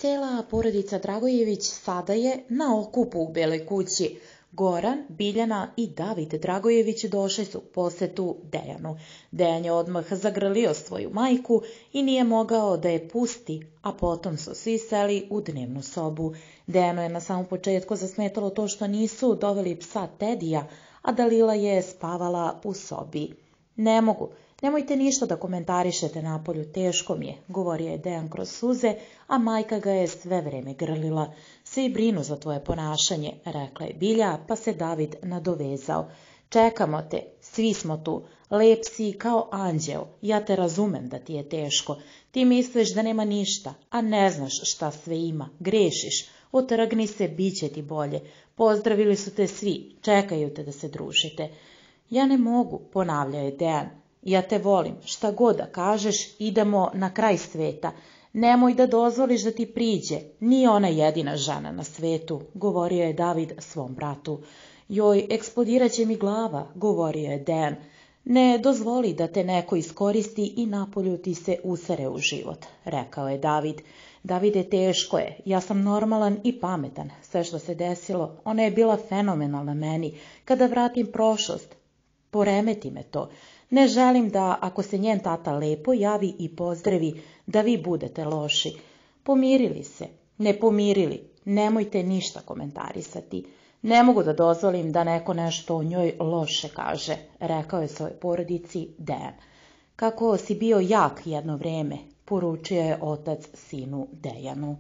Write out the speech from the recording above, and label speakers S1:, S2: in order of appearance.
S1: Cela porodica Dragojević sada je na okupu u Beloj kući. Goran, Biljana i David Dragojević došli su u posetu Dejanu. Dejan je odmah zagrlio svoju majku i nije mogao da je pusti, a potom su svi seli u dnevnu sobu. Dejanu je na samom početku zasmetalo to što nisu doveli psa Tedija, a Dalila je spavala u sobi. Ne mogu. Nemojte ništa da komentarišete napolju, teško mi je, govorio je Dejan kroz suze, a majka ga je sve vreme grlila. Svi brinu za tvoje ponašanje, rekla je Bilja, pa se David nadovezao. Čekamo te, svi smo tu, lep si kao anđeo, ja te razumem da ti je teško. Ti misliš da nema ništa, a ne znaš šta sve ima, grešiš, otrgni se, bit će ti bolje. Pozdravili su te svi, čekaju te da se družite. Ja ne mogu, ponavljao je Dejan. Ja te volim, šta god da kažeš, idemo na kraj sveta. Nemoj da dozvoliš da ti priđe, nije ona jedina žena na svetu, govorio je David svom bratu. Joj, eksplodiraće mi glava, govorio je Dejan. Ne dozvoli da te neko iskoristi i napolju ti se usere u život, rekao je David. Davide, teško je, ja sam normalan i pametan. Sve što se desilo, ona je bila fenomenalna meni. Kada vratim prošlost, poremeti me to. Ne želim da, ako se njen tata lepo javi i pozdravi, da vi budete loši. Pomirili se, ne pomirili, nemojte ništa komentarisati. Ne mogu da dozvolim da neko nešto o njoj loše kaže, rekao je svojoj porodici Dejan. Kako si bio jak jedno vreme, poručio je otac sinu Dejanu.